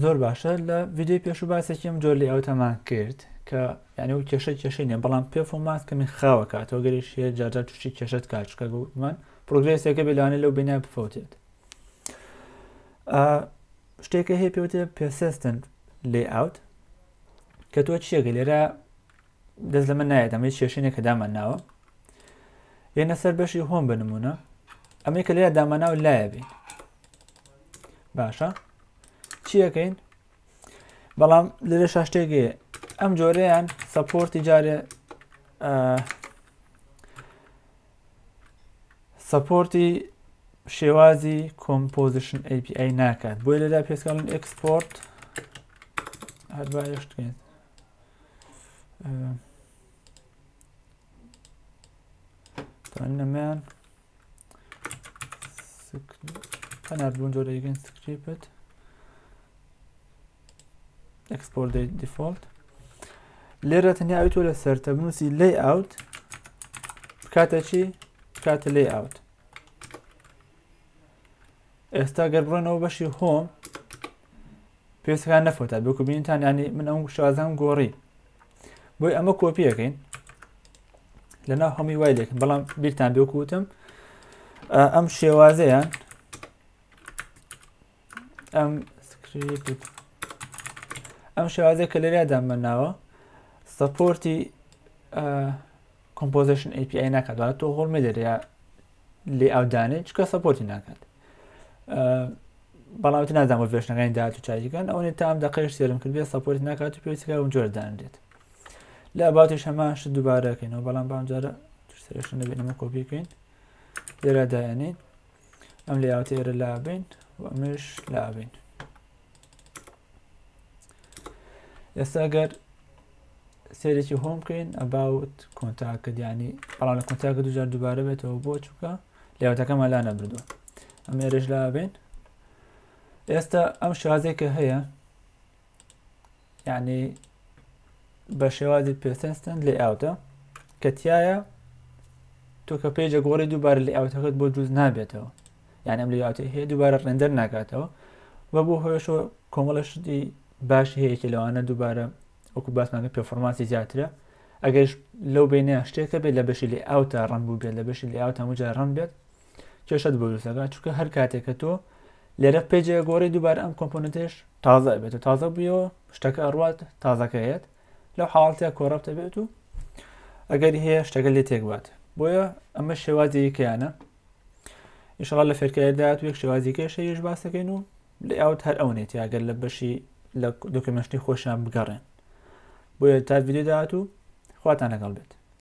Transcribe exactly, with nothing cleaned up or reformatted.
زۆر باشە. لە ڤیدیۆی پێشوو باسێکی ئەم جۆر layout ەمان کرد کە یعنی و کێشە کێشەی نییە، بەڵام performance کەمی خاوە کاتەوە گەریش هەیە جارجار تووشی کێشەت کات، چونکە گوتمان progress ێکە بێ لەوانەیە لەو بینای بفەوتێت. شتێکە هەیە پێوتێ persistent layout کە تۆ چیەکە لێرە دەست لەمە نایەت، ئەمە کێشەیە کە دامان ناوە. یەنە سەر بەشی home بە نمونە، ئەمەی کە لێرە داماناو لایە بین. باشە چیەکەین؟ بەڵام لێرە شاشتێک هەیە ئەم جۆرەیان support ی جارێ support ی شێوازی composition API ناکات، بۆیە لێرە پێسکاڵن export هەر با یەشتکەین توانیمان قەنات بوون جۆرەیەکەین script export default. لێرە تەنیا ئەوی تۆ لەسەر تە بنووسی layout بکاتە چی؟ بکاتە layout. ئێستا گەر بڕۆنەوە بەشی home پێستەکان نەفەوتا بێکو بینیتان، ینی من ئەم شێوازەم گۆڕی، بۆی ئەمە کۆپیەکەین لەناو هەمووی وای لێکن. بەڵام بیرتان بێکو وتم ئەم شێوازەیان ئەم script ئەم شێوازەیە کە لێرە دامەناوە support ی composition API ناکات، واتە تۆ هۆڵ مێدەرێ layout دانێ چونکە support ی ناکات. بەڵام تر نازانم version ەکانی داهاتوو چاکیکەن، ئەوەنەی تا ئەم دەقەیەش سێرم کرد بێ support ی ناکات و پێویستەکە ئەم جۆرە دانرێت. لە about یش هەمان شت دووبارەکەینەوە، بەڵام بەم جارە سەرێشە نەبێت ئەمە کۆپی بکەین، لێرە دایانین ئەم layout ە ئێرە لابین و ئەمەش لابین. ئێستا ئەگەر سێرێکی home بکەین about contact، ینی بەڵام لە contact دووجار دووبارە بێتەوە بۆ چووکە layout ەکەمان لا نەبردووە، ئەم ئێرەش لابین. ئێستا ئەم شێوازێک کە هەیە یعنی بە شێوازی persistent layout ە کە تایە تۆ کە page ە گۆڕی دووبارە layout ەکەت بۆ دروست نابێتەوە، یعنی ئەم layout ە هەیە دووبارە render ناکاتەوە و بۆ هۆیەشەوە کۆمەڵە شتی باشی هەیەکی لەوانە دووبارە وەکو باسمان کرد performance ی زیاترە. ئەگەرش لەو بینە شتێکە بێت لە بەشی layout ا run بوو بێت، لە بەشی layout هەموو جار run بێت کێشەت بۆ دروستەکات، چونکە هەر کاتێک کە تۆ لێرە page ە گۆڕی دووبارە ئەم component ێش تازە بێت و تازە بوویەوە شتەکە ئەڕوات تازەکەیەت، لەو حاڵەتە corrupt بێت و ئەگەری هەیە شتەکە لێ تێک بات. بۆیە ئەمە شێوازێکیانە ئینشاڵڵا لە فێرکاری داهاتوو یەک شێوازێکیش هەیەش باس دەکەین و layout هەر ئەو نێتی ئەگەر لە بەشی لە documentation ی خۆشیان بگەڕێن. بۆیە تا ڤیدیۆ داهاتوو خواتان لەگەڵ بێت.